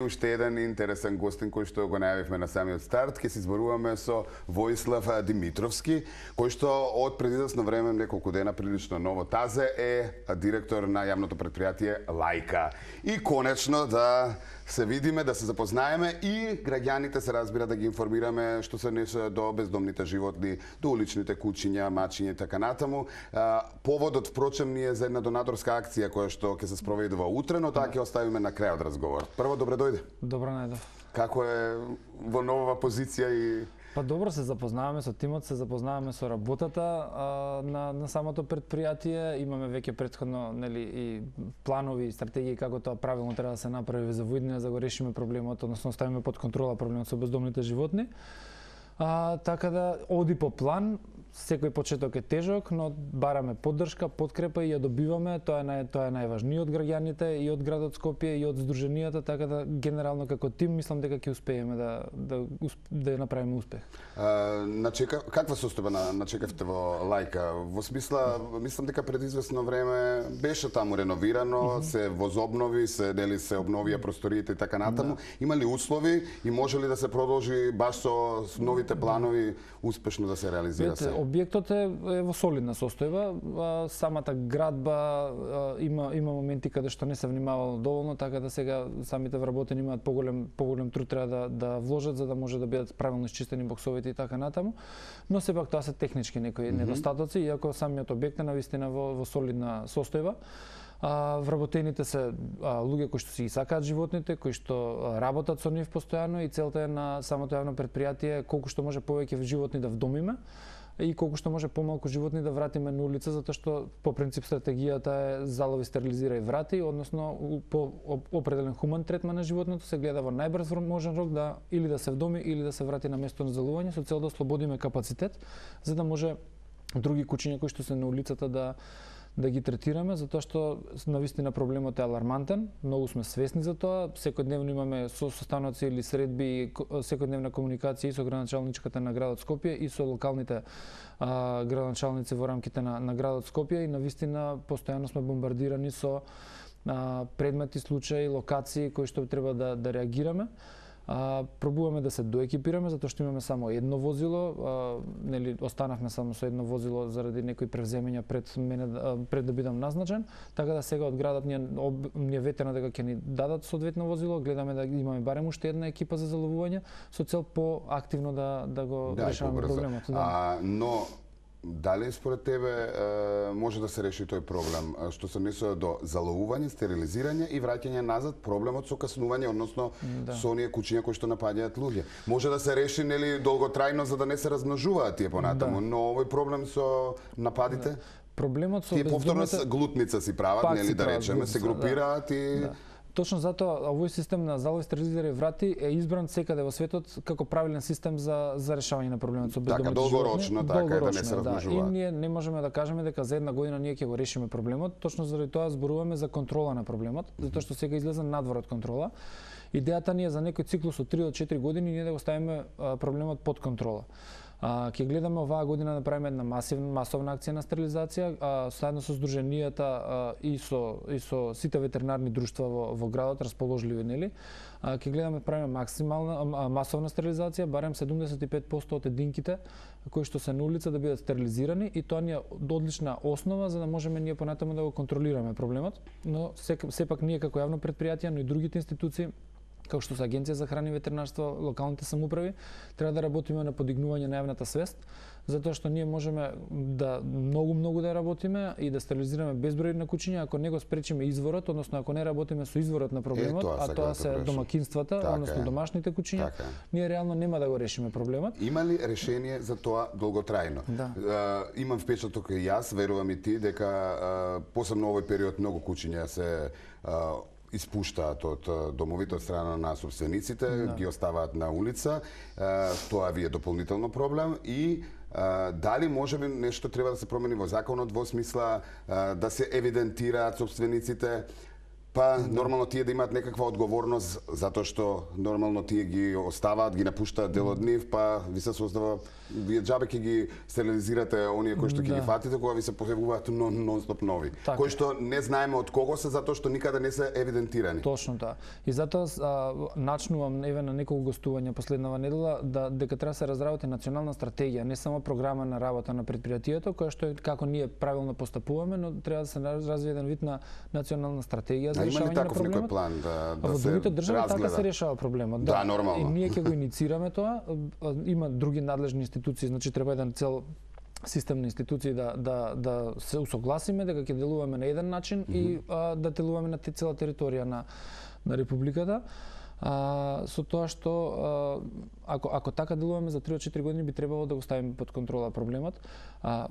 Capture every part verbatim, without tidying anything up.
Уште еден интересен гостин кој што го најавивме на самиот старт, ќе се зборуваме со Воислав Димитровски, кој што од пред известно време, неколку дена прилично ново тазе, е директор на јавното предпријатие Лајка. И конечно да се видиме, да се запознаеме и граѓаните се разбира да ги информираме што се несе до бездомните животни, до уличните кучиња, мачиња и така натаму. Поводот, впрочем, ни е за една донаторска акција која што ќе се спроведува утре, но таа ќе оставиме на крајот разговор. Прво, добре дојде. Добро најдов. Како е во нова позиција и... Па добро, се запознаваме со тимот, се запознаваме со работата а, на, на самото предпријатие. Имаме веќе претходно, нели, и планови и стратегии како тоа правилно треба да се направи за воиднина, за да го решиме проблемот, односно ставиме под контрола проблемот со бездомните животни. А, така да оди по план. Секој почеток е тежок, но бараме поддршка, подкрепа и ја добиваме. Тоа е нај, тоа е најважниот од граѓаните и од градот Скопје и од здруженијата, така да генерално како тим мислам дека ќе успееме да да да ја направиме успех. А, начека каква состојба на начекавте во Лајка? Во смисла, мислам дека пред известно време беше таму реновирано, mm -hmm. се возобнови, се нели се обновија просториите и така натаму. Да. Има ли услови и може ли да се продолжи баш со новите планови успешно да се реализира се? Објектот е, е во солидна состојба, а, самата градба а, има има моменти каде што не се внимавало доволно, така да сега самите вработени имаат поголем поголем труд треба да да вложат за да може да бидат правилно исчистени боксовите и така натаму. Но сепак тоа се технички некои mm -hmm. недостатоци, иако самиот објект е навистина во во солидна состојба. А, вработените се а, луѓе кои што си ги сакаат животните, кои што а, работат со нив постојано и целта е на самото јавно предпријатие колку што може повеќе животни да вдомиме и колку што може помалку животни да вратиме на улица, затоа што по принцип стратегијата е залови, стерилизира и врати, односно по определен хуман третман на животното се гледа во најбрз можен рок да или да се вдоми или да се врати на место на залување со цел да ослободиме капацитет за да може други кучиња кои што се на улицата да да ги третираме, затоа што навистина проблемот е алармантен, многу сме свесни за тоа, секојдневно имаме состаноци или средби, секојдневна комуникација и со градоначалничката на градот Скопје и со локалните а, градоначалници во рамките на, на градот Скопје и навистина постојано сме бомбардирани со а, предмети, случаи, локации кои што треба да, да реагираме. А, пробуваме да се доекипираме затоа што имаме само едно возило, а, нели останавме само со едно возило заради некои превземања пред мене а, пред да бидам назначен, така да сега од градот ни е ветено дека ќе ни дадат соодветно возило, гледаме да имаме барем уште една екипа за заловување со цел поактивно да да го да, решаваме проблемот. Да. А, но дали според тебе е, може да се реши тој проблем што се однесува до заловување, стерилизирање и враќање назад проблемот со каснување, односно да. Со оние кучиња кои што напаѓаат луѓе? Може да се реши нели долготрајно за да не се размножуваат тие понатаму, да. Но овој проблем со нападите? Да. Проблемот со тие повторно глутница си прават, нели да речеме, се групираат да. И да. Точно затоа овој систем на залови, стерилизира и врати е избран секаде во светот како правилен систем за за решавање на проблемот со бездомните така, долгорочно, животни. Така, да не се размножуваат. Да. И ние не можеме да кажеме дека за една година ние ќе го решиме проблемот, точно заради тоа зборуваме за контрола на проблемот, затоа што сега излезе надвор од контрола. Идејата ни е за некој циклус од три до четири години ние да го ставиме проблемот под контрола. А, ќе гледаме оваа година да правиме една масивна масовна акција на стерилизација, а, заедно со здруженијата а, и со и со сите ветеринарни друштва во, во градот расположливи, нели? А, ќе гледаме да правиме максимална а, масовна стерилизација, барем седумдесет и пет пропценти од единките кои што се на улица да бидат стерилизирани и тоа ни е одлична основа за да можеме ние понатаму да го контролираме проблемот, но сепак ние како јавно предпријатие, но и другите институции како што се Агенција за храна и ветеринарство, локалните самоуправи, треба да работиме на подигнување на јавната свест, затоа што ние можеме да многу многу да работиме и да стерилизираме безброј на кучиња, ако не го спречиме изворот, односно ако не работиме со изворот на проблемот, е, тоа а тоа се домакинствата, така односно домашните кучиња, така. Ние реално нема да го решиме проблемот. Има ли решение за тоа долготрајно? Да. Uh, имам впечаток и јас, верувам и ти, дека uh, посебно овој период многу кучиња се uh, испуштаат од домовите од страна на собствениците, да. Ги оставаат на улица, тоа ви е дополнително проблем и дали може би нешто треба да се промени во законот во смисла да се евидентираат собствениците Па нормално тие да имаат некаква одговорност затоа што нормално тие ги оставаат, ги напуштаат дел од нив, па ви се создава вие џабе ќе ги стерилизирате оние кои што ќе Да. ги фатите кога ви се појавуваат нон-стоп нови, Така кои е. што не знаеме од кого се затоа што никаде не се евидентирани. Точно тоа. И затоа а, начнувам еве на неколку гостувања последнава недела да дека треба да се разработи национална стратегија, не само програма на работа на предпријатието, која што е како ние правилно постапуваме, но треба да се развие еден вид на национална стратегија за А има ли решавање на таков некој проблемот. план да да Во се другите држави така разгледа? се решава проблемот. Да, нормално. И ние ќе го иницираме тоа. Има други надлежни институции, значи треба еден цел систем на институции да да да се усогласиме дека ќе делуваме на еден начин mm -hmm. и а, да делуваме на те цела територија на на републиката. А, со тоа што а, ако ако така делуваме за три до четири години би требало да го ставиме под контрола проблемот. А,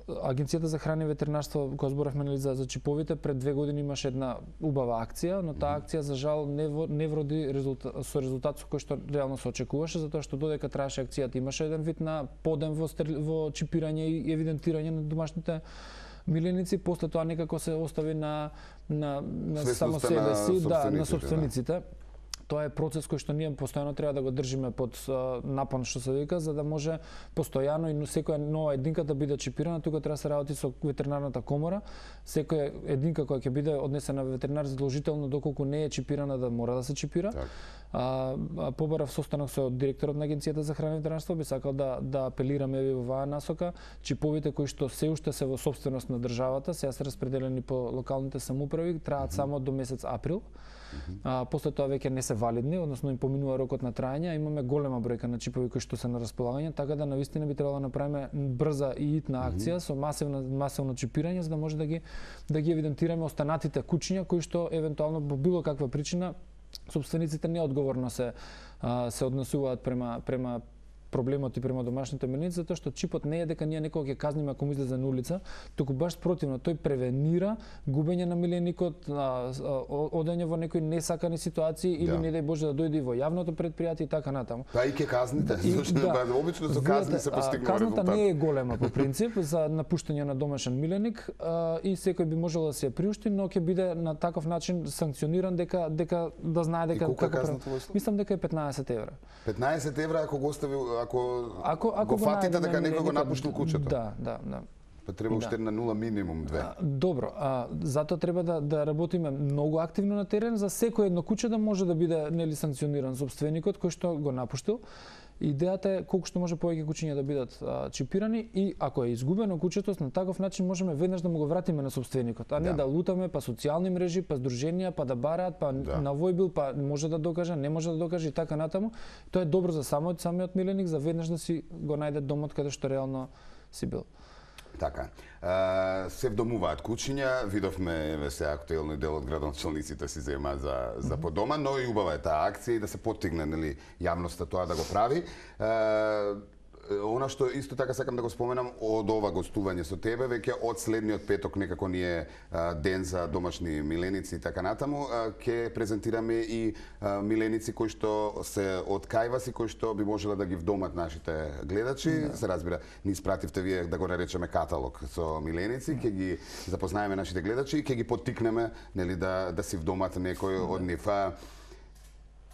Агенцијата за храна и ветеринарство, кога зборавме нели за, за чиповите, пред две години имаше една убава акција, но таа акција за жал не, во, не вроди резултат, со резултат со кој што реално се очекуваше, затоа што додека траеше акцијата имаше еден вид на подем во, стер, во чипирање и евидентирање на домашните миленици, после тоа некако се остави на на, на само себе си, да, на собствениците. Тоа е процес кој што ние постојано треба да го држиме под uh, напон, што се вика, за да може постојано и секоја нова единка да биде чипирана. Тука треба да се работи со ветеринарната комора. Секоја единка која ќе биде однесена во ветеринар задолжително доколку не е чипирана да мора да се чипира. Так. А, а побарав состанок со директорот на Агенцијата за храна и ветеринарство, би сакал да да апелираме во оваа насока. Чиповите кои што се уште се во собственост на државата, сега се распределени по локалните самоуправи, траат mm -hmm. само до месец април. А, после тоа веќе не се валидни, односно им поминува рокот на траење, имаме голема бројка на чипови кои што се на располагање, така да навистина би требало да направиме брза и итна акција mm -hmm. со масивно масивно чипирање за да може да ги да ги евидентираме останатите кучиња кои што евентуално по било каква причина собствениците неодговорно се а, се однесуваат према према проблемот и према домашните миленици, затоа што чипот не е дека ние некога ќе казниме ако му излезе на улица, туку баш спротивно, тој превенира губење на миленикот, одење во некои несакани ситуации или да. не дај Боже да дојде во јавното предпријатие и така натаму. Па и ќе казните, зашто да, обично со казни се постигнува казната резултат. не е голема по принцип за напуштање на домашен миленик а, и секој би можел да се ја приушти, но ќе биде на таков начин санкциониран дека дека да знае дека како казната во мислам дека е петнаесет евра. петнаесет евра ако го остави ако, ако, ако го фатите дека некој го напуштил куќето. Да, да, да. Па треба уште да. на нула минимум две. А, добро, а затоа треба да да работиме многу активно на терен за секој едно куќе да може да биде нели санкциониран собственикот кој што го напуштил. Идејата е колку што може повеќе кучиња да бидат а, чипирани и ако е изгубено куќето, на таков начин можеме веднаш да му го вратиме на собственикот, а не да, да лутаме па социјални мрежи, па здруженија, па да бараат, па да. на војбил, па може да докаже, не може да докаже и така натаму. Тоа е добро за самиот самиот миленик за веднаш да си го најде домот каде што реално си бил. Така. Uh, се вдомуваат кучиња, видовме еве се актуелно дел од градоначалниците си зема за за по дома, но и убава е таа акција и да се поттигне нели јавноста тоа да го прави. Uh, Она што исто така сакам да го споменам од ова гостување со тебе, веќе од следниот петок некако ни е а, ден за домашни миленици и така натаму, ќе презентираме и а, миленици кои што се од кајваси, кои што би можеле да ги вдомат нашите гледачи. Да. Се разбира, ни испративте вие да го наречеме каталог со миленици, ќе ги запознаеме нашите гледачи и ќе ги поттикнеме нели да да си вдомат некој од нив.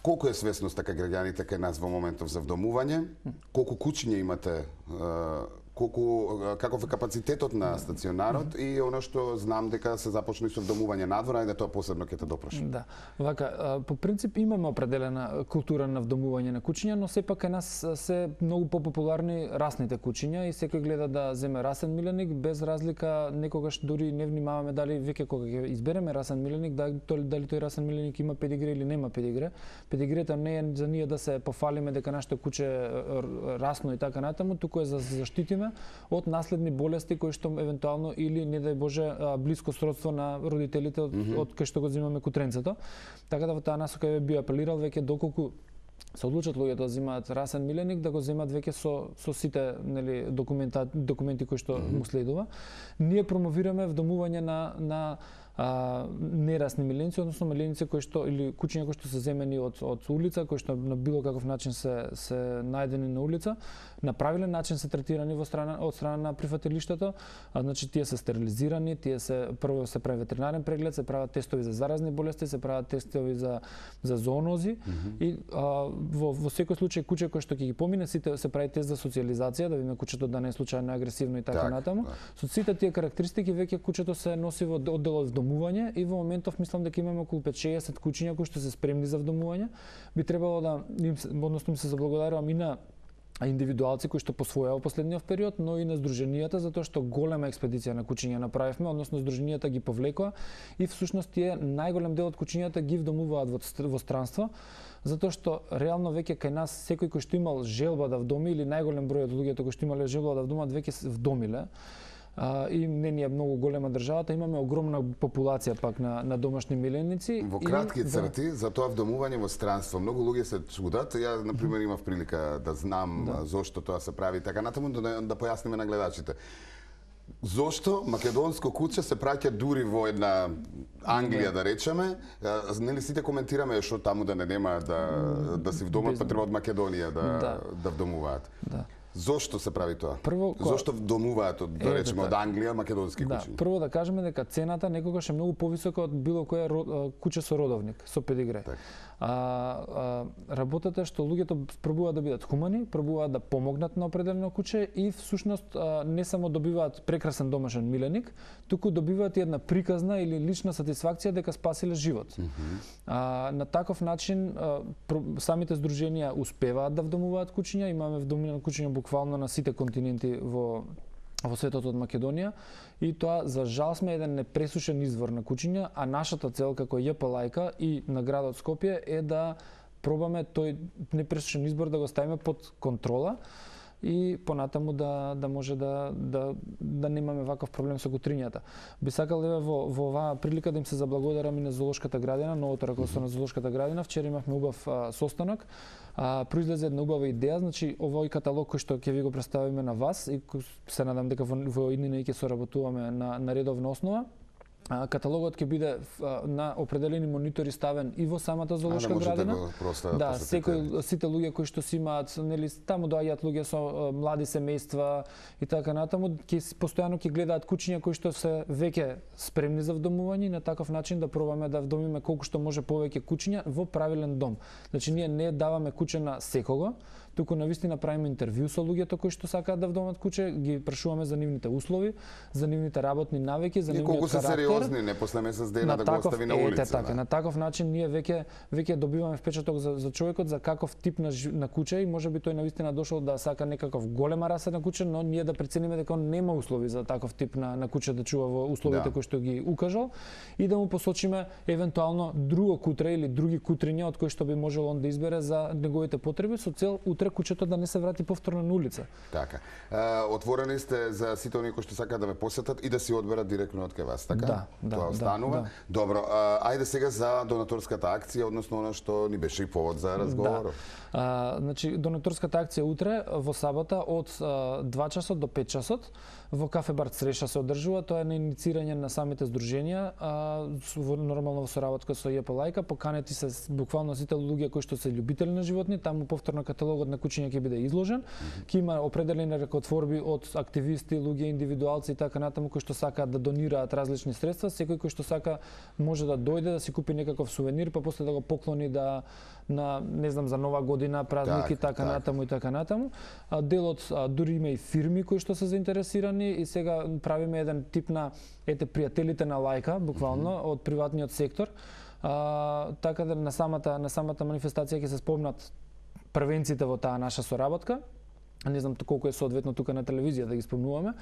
Колку е свесноста кај граѓаните кај нас во моментов за вдомување? Колку кучиња имате? Колку каков е капацитетот на стационарот и она што знам дека се започна со вдомување надвор, ајде тоа посебно ќе те допрашам. Да. Вака, по принцип имаме определена култура на вдомување на кучиња, но сепак кај нас се многу популарни расните кучиња и секој гледа да земе расен миленик без разлика, некогаш дури не внимаваме дали веќе кога ќе избереме расен миленик, дали тој, дали тој расен миленик има педигре или нема педигре. Педигрета не е за ние да се пофалиме дека нашето куче расно и така натаму, туку е за заштитиме од наследни болести кои што евентуално или не дај Боже блиско сродство на родителите од, mm -hmm. од кај што го земаме кутренцето. Така да во таа насока би апелирал веќе доколку се одлучат луѓето да земаат расен миленик, да го земат веќе со со сите нели документа документи кои што mm -hmm. му следува. Ние промовираме вдомување на на а, нерасни миленици, односно миленици кои што или кучиња кои што се земени од од улица, кои што на било каков начин се се најдени на улица, на правилен начин се третирани во страна од страна на прифатилиштето, а значи тие се стерилизирани, тие се прво се прави ветеринарен преглед, се прават тестови за заразни болести, се прават тестови за за зоонози mm -hmm. и а, во во секој случај куче кој што ќе ги помине сите се прави тест за социализација, да видиме кучето да не е случајно агресивно и така так, натаму. Так. Со сите тие карактеристики веќе кучето се носи во одделот вдомување и во моментов мислам дека имаме околу пет шеесет кучиња кои што се спремни за вдомување. Би требало да им односно им се заблагодарувам и на индивидуалци кои што посвоја во последниот период, но и на здруженијата затоа што голема експедиција на кучиња направивме, односно здруженијата ги повлекоа и всушност тие најголем дел од кучињата ги вдомуваат во, во странство, затоа што реално веќе кај нас секој кој што имал желба да вдоми или најголем број од луѓето кои што имале желба да вдомат веќе се вдомиле. А, и не ни е многу голема државата, имаме огромна популација пак на, на домашни миленици. Во кратки и, црти, да. За тоа вдомување во странство, многу луѓе се чудат. Ја, например, имав прилика да знам да. Зошто тоа се прави, така натаму да, да појасниме на гледачите. Зошто македонско куче се праќа дури во една Англија, да речеме, нели сите коментираме што таму да не нема да, да си вдомат, па треба од Македонија да, да. да вдомуваат. Да. Зошто се прави тоа? Прво, зошто вдомуваат од, да речеме, од Англија македонски да, кучиња? Прво да кажеме дека цената некогаш е многу повисока од било кое куче со родовник, со педигре. Так. А, а, работата е што луѓето пробуваат да бидат хумани, пробуваат да помогнат на определено куче и всушност а, не само добиваат прекрасен домашен миленик, туку добиваат и една приказна или лична сатисфакција дека спасиле живот. Mm -hmm. а, на таков начин а, самите здруженија успеваат да вдомуваат кучиња, имаме вдомувани кучиња буквално на сите континенти во во светот од Македонија и тоа за жал сме еден непресушен извор на кучиња, а нашата цел како Ј П Лајка и на градот Скопје е да пробаме тој непресушен избор да го ставиме под контрола и понатаму да да може да да да немаме ваков проблем со кутрињата. Би сакал еве во во оваа прилика да им се заблагодарам и на Зоолошката градина, новото раководство на Зоолошката градина. Вчера имавме убав а, состанок. А, произлезе една убава идеја, значи овој каталог кој што ќе ви го представиме на вас и се надам дека во, во иднина ќе соработуваме на на редовна основа. А, каталогот ќе биде а, на определени монитори ставен и во самата зоолошка градина. Да, да секој сите луѓе кои што си имаат, нели таму доаѓаат луѓе со а, млади семејства и така натаму, ќе постојано ќе гледаат кучиња кои што се веќе спремни за вдомување и на таков начин да пробаме да вдомиме колку што може повеќе кучиња во правилен дом. Значи ние не даваме куче на секого, туку навистина правиме интервју со луѓето кои што сакаат да вдомат куче, ги прашуваме за нивните услови, за нивните работни навики, за нивниот карактер. Не после месец дена да го остави на улица. Ете така, на таков начин ние веќе веќе добиваме впечаток за за човекот за каков тип на на куче и можеби тој навистина дошол да сака некаков голема раса на куче, но ние да прецениме дека он нема услови за таков тип на на куче да чува во условите да. Кои што ги укажал и да му посочиме евентуално друго кутре или други кутриња од кои што би можел он да избере за неговите потреби со цел утре кучето да не се врати повторно на улица. Така. А, отворени сте за сите оние кои што сакаат да ве посетат и да си одберат директно од кај вас, така? Да. Да, тоа останува. Да, да. Добро, а, ајде сега за донаторската акција, односно она што ни беше и повод за разговор. Да. А, значи, донаторската акција утре во сабота од а, два часот до пет часот во кафе бар Цреша се одржува. Тоа е на инициирање на самите здруженија, а, во, нормално во соработка со Ј П Лајка. Поканети се буквално сите луѓе кои што се љубители на животни, таму повторно каталогот на кучиња ќе биде изложен. Mm -hmm. Ќе има определени ракотворби од активисти, луѓе, индивидуалци и така натаму кои што сакаат да донираат различни средства. Секој кој што сака може да дојде да си купи некаков сувенир, па после да го поклони да на не знам за нова година, празники, так, така так. Натаму и така натаму. А, делот а, дури има и фирми кои што се заинтересирани и сега правиме еден тип на ете пријателите на Лајка, буквално mm -hmm. од приватниот сектор. А, така да на самата на самата манифестација ќе се спомнат првенците во таа наша соработка. Не знам колку е соодветно тука на телевизија да ги спомнуваме,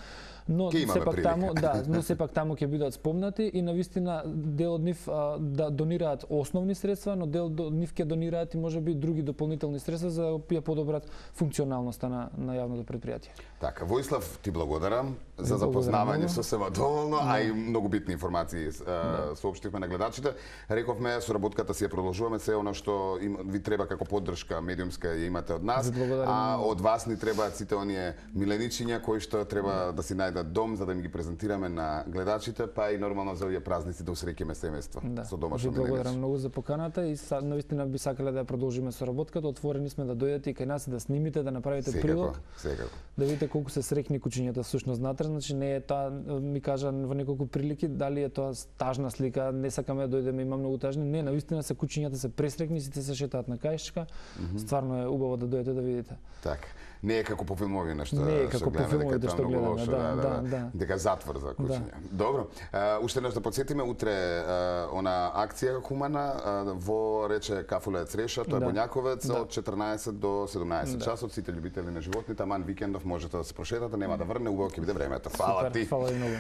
но сепак прилика. таму, да, но сепак таму ќе бидат спомнати и навистина дел од нив а, да донираат основни средства, но дел од нив ќе донираат и можеби други дополнителни средства за да ја подобрат функционалноста на на јавното предпријатие. Така, Воислав, ти благодарам за запознавање со сева доволно, а и многу битни информации да. Соопштивме на гледачите. Рековме соработката си ја продолжуваме, се она што им, ви треба како поддршка медиумска ја имате од нас, а од вас ни треба требаат сите оние миленичиња кои што треба да си најдат дом за да им ги презентираме на гледачите, па и нормално за овие празници да усреќаме семејство Да. со домашно Ви благодарам милениче. многу за поканата и са, навистина би сакале да ја продолжиме со работката. Отворени сме да дојдете и кај нас и да снимите, да направите Секако, прилог, секако. да видите колку се среќни кучињата всушност внатре. Значи не е тоа, ми кажа во неколку прилики, дали е тоа тажна слика, не сакаме да дојдеме, има многу тажни. Не, навистина се кучињата се пресреќни, сите се шетаат на каишчка. Mm -hmm. Стварно е убаво да дојдете да видите. Така. Не е како по филмови што Не е што како по гледаме, дека филмовите е што тоа многу гледаме, лошо, да, да, да. дека затвор за кучиња. Добро. А, уште нешто да подсетиме, утре а, она акција хумана а, во рече Кафуле Цреша, тоа е Да. Боњаковец Да. од четрнаесет до седумнаесет Да. часот. Сите љубители на животни, таман викендов можете да се прошетате, нема да врне, убаво ќе биде времето. Фала Супер, ти. фала ви многу.